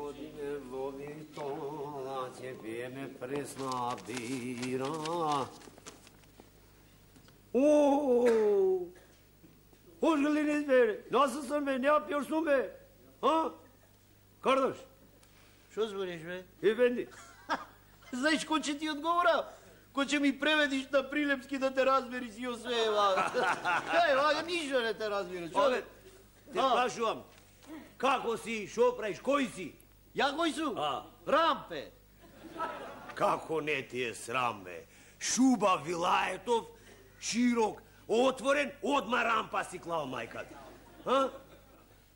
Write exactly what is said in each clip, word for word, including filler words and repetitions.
Одиме во виртола, ќе пиеме пресна бира. Ооо! Hoş geldiniz be. Nasılsın be? Ne yapıyorsun be? Ha? Kardeş. Що збориш, бе? Efendi. Знаеш кој ќе ти одговора? Кој ќе ми преведиш на Прилепски да те разбери си осве, вага. Кај, вага, ништо не те разбира. Ове, те прашувам. Како си, шо правиш, кој си? Ја кој су? А. Рампе. Како не ти е срам, бе? Шуба Вилаетов, широк, отворен, одма рампа си клал мајката. А?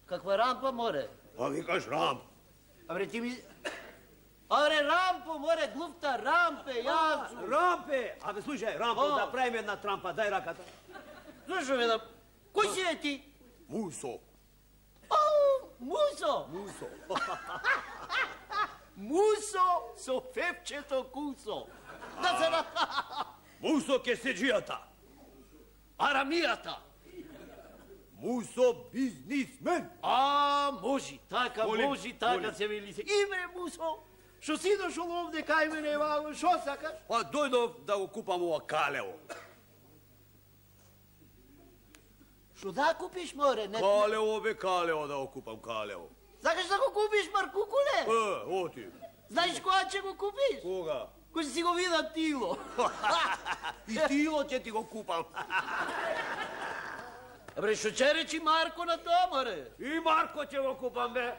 Каква рампа, море? А викаш рамп. Абре, ти ми... Абре, рампо, море, глуфта, рампе, јас сум. Рампе! Абе, слушај, рампо, да правим една трампа, дај раката. Слушам една... Кој си е ти? Мусо. Ау, Мусо! Мусо. Мусо со фепчето кусо. Да се на... Мусо кеседжијата. Арамијата. Мусо бизнисмен. А, може, така, Молим, може, така молим. се вели се. Имре, Мусо, што си дошол овде кај мене, ваго, шо сакаш? Па дојдов да го купам ова калево. Што да купиш, море? Не, Калево бе, калево да го купам, калево. сакаш да го купиш, Маркукуле? Е, оти. Знаеш кога ќе го купиш? Кога? Кој си го вида Тило. И тило ќе ти го купам. Абре, што ќе речи Марко на тоа, море? И Марко ќе го купам, бе.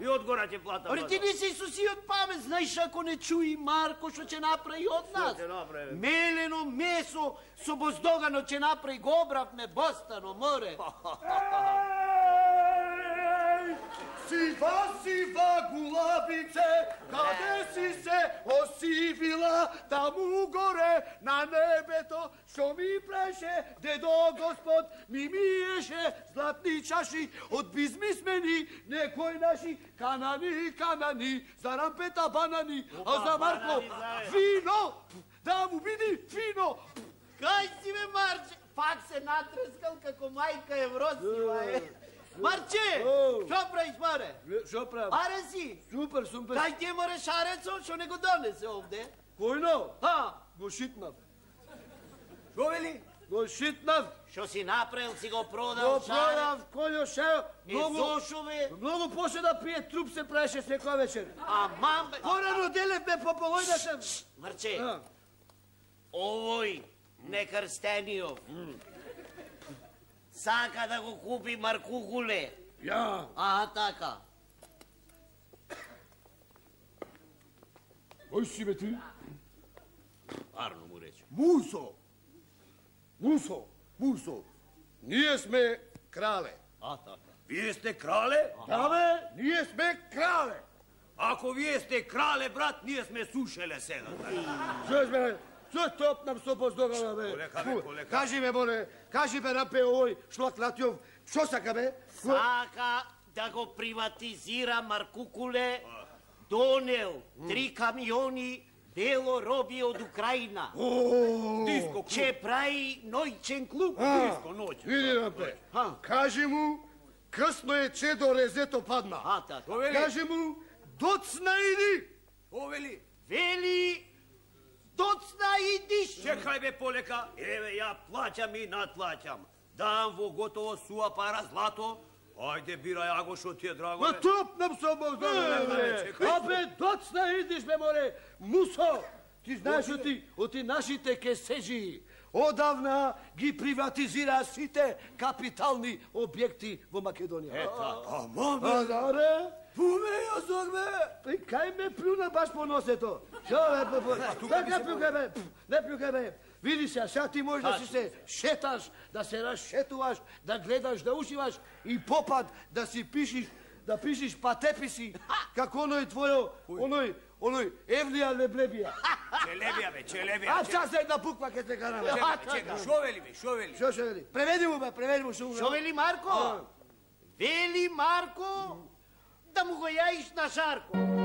И одгора ќе платам. Абре, ти не си сусиот памет, знаеш ако не чуи Марко што ќе направи од нас? ќе направи? Мелено месо со боздогано ќе направи, го обравме бостано, море. Сива, сива гулабице, каде си се осивила, таму горе на небето, што ми преше, дедо Господ ми миеше златни чаши од бизнисмени, некои наши канани, канани, за рампета банани, а за Марко вино, да му биди фино. Кај си, бе, Марче? Пак се натрескал како мајка Евросива, е. Марче, што правиш, море? Што правам? Аре си? Супер, супер. Кај ти е, море, шарецо, што не го донесе овде? Којно? Ха? Го шитнав. Шо вели? Го шитнав. Што си направил, си го Го продал, продав, којо шео. Е, зошо, бе? Многу после да пие труп се правеше секоја вечер. Аман, бе. Порано делевме по полојната. Марче, овој некрстениот сака да го купи Маркукуле. Ја. А, така. Кој си бе ти? Арно му рече. Мусо. Мусо. Мусо. Ние сме крале. А, така. Вие сте крале? Да бе, ние сме крале. Ако вие сте крале, брат, ние сме сушеле сега. Што сме? Што топнам со боздогана, бе? Колека, бе, колека. Кажи ме, море, кажи ме, рапе, овој шлаклатјов, што сака, бе? Сака да го приватизира Маркукуле, донел три камиони бело роби од Украина. Диско клуб. Че прави ноќен клуб. Диско ноќ. Види, рапе, кажи му, късно е, че до резето падна. А, така. Шо вели? Кажи му, доцна иди. Шо вели? Вели, доцна идиш. Чекај бе полека, еве ја плаќам и надплаќам. Дам во готово суа пара злато. Ајде бирај аго што ти е драго. Ма бе. топнам со боздогана, бе. Абе, доцна идиш, бе, море. Мусо, ти знаеш оти, оти нашите кесежи одавна ги приватизира сите капитални објекти во Македонија. Ета. Ама бе, А, да, пуме јазок бе. бе, кај ме плюна баш по носето? Шо, бе, бе, бе, не плюкај, бе, не плюкај, бе. Види се, сега ти можеш да си се шеташ, да се расшетуваш, да гледаш, да ушиваш и попад да си пишиш, да пишиш патеписи, како оној твојо, оној, оној Евлија Леблебија. Челебија бе, челебија. А час една буква ке те караме. Чека, чека, шо вели бе, шо вели? Шо ше вели? Преведи му, бе, преведи му шо. Шо вели Марко? Вели Марко да му го јаиш на Шарко.